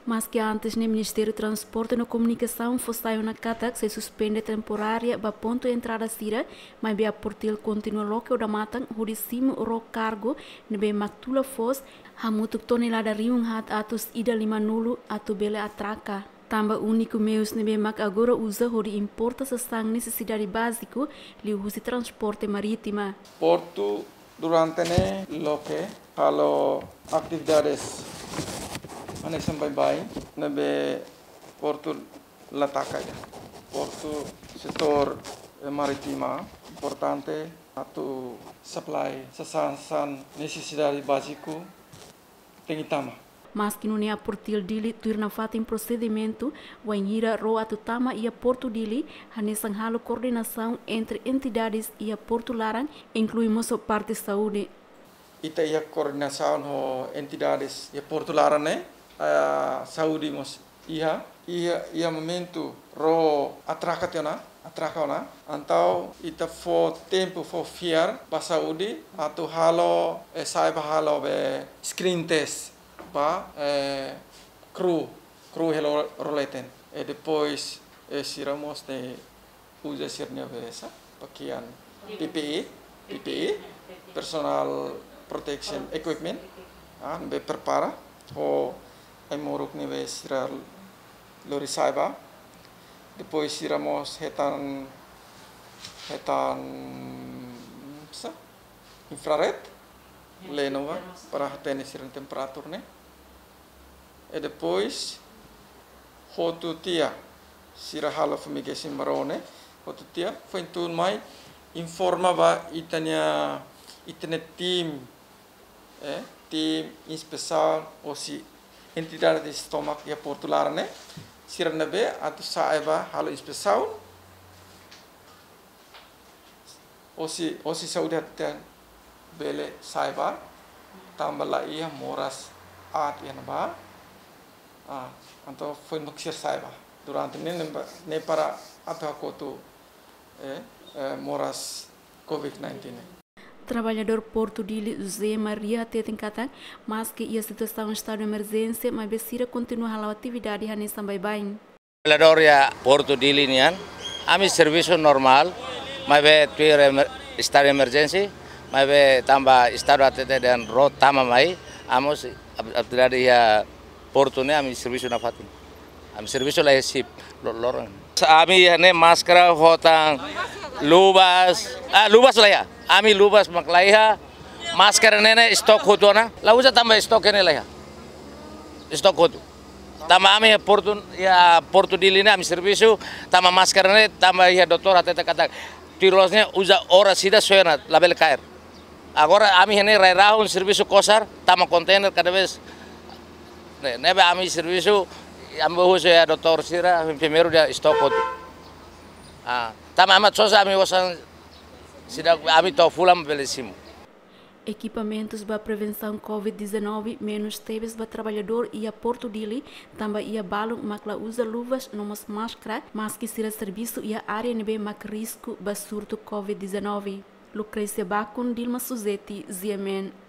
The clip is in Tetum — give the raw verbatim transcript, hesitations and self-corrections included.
Maske antes ne'e Ministériu Transporte no Komunikasaun fó sai ona katak sei suspende temporária ba pontu entrada sira, maibé APORTIL kontinua loke odamatan hodi simu ró kargu ne'ebé mak tula foos, hamutuk tonelada rihun haat atus ida lima-nulu atu bele atraka. Tanba úniku meius ne'ebé mak agora uza hodi importa sasán nesesidade báziku liuhusi transporte marítima. Portu durante ne'e loke halo atividades hanesan baibain ne'ebé portu la taka ida. Portu setór, eh, marítima importante atu supply sasán, sasán nesesidade báziku tenke tama. Maske nune'e APORTIL Dili tuir nafatin prosedimentu, wainhira ró atu tama iha Portu Dili, hanesan halo koordenasaun entre entidades iha portu laran, inklui mós parte saúde. Ita iha koordenasaun ho entidades iha portu laran ne'e, ah, saúde mós iha, iha, iha momentu ró atraka tiha ona, atraka ona. Entaun ita fó tempu, fó fiar ba saúde atu halo, eh, sai ba halo be screen test ba, eh, kru, kru hela ró leten. E depois, eh, sira mós ne'e uza sira-nia be sa, pakaian P P E, P P E, personal protection equipment, ah, be prepara ho ai-moruk ne'ebé sira lori sai ba. Depois sira mós hetan, hetan, sa, infrared, leno ba, para hatene sira-nia temperatura ne'e. E depois, hotu tiha, sira halo fumigation ba ró ne'e, hotu tiha, foin tun mai, informa ba ita-nia, ita-nia tim, eh, tim inspesaun, hosi entidade sira tomak iha portu laran ne'e, sira ne'ebé atu sai ba halo inspesaun, hosi, hosi saúde hateten bele sai ba, tanba la iha moras aat iha ne'ebá. Ah, entaun foin mak sira sai ba. Durante ne'e, ne'e ba, ne'e para atu hakotu, eh, eh, moras covid nineteen ne'e. Traballadór Portu Dili José Maria hateten katak, maske iha situasaun estadu emerjénsia, maibé sira kontinua hala'o atividade hanesan baibain. Traballadór iha Portu Dili nian, ami servisu normál, maibé tuir emer-, estadu emerjénsia, maibé tanba estadu hatete dehan ró tama mai, ami mós ap-, atividade iha portu ne'e ami servisu nafatin. Ami servisu la iha sip, lo-, loron. Ami iha ne'e máskara, hotan luvas, ah, luvas la iha. Ami luvas mak la iha, máskara ne'e ne'e stok hotu ona, la uza tanba stok ne'e la iha. Stok hotu. Tanba ami iha portu, iha Portu Dili ne'e ami servisu, tanba máskara ne'e, tanba iha doutór hatete katak tuir loos ne'e uza oras ida soe ona, labele kaer. Agora ami iha ne'e rai-rahun servisu kosar, tama konteiner kada vez. Ne'e, ne'ebé ami servisu, ami husu iha doutór sira, enfermeiru dehan stok hotu. Ah, tanba ami sosa ami osan sida ami to'o fulan bele simu. Ekipamentus ba prevensaun covid dezanove menus tebes ba traballadór iha Portu Dili, tanba iha balun mak la uza luvas no mós máskara, maske sira servisu iha área ne'ebé mak risku ba surtu covid dezanove. Lucrecia Bacon, Dilma Suzeti, G M N.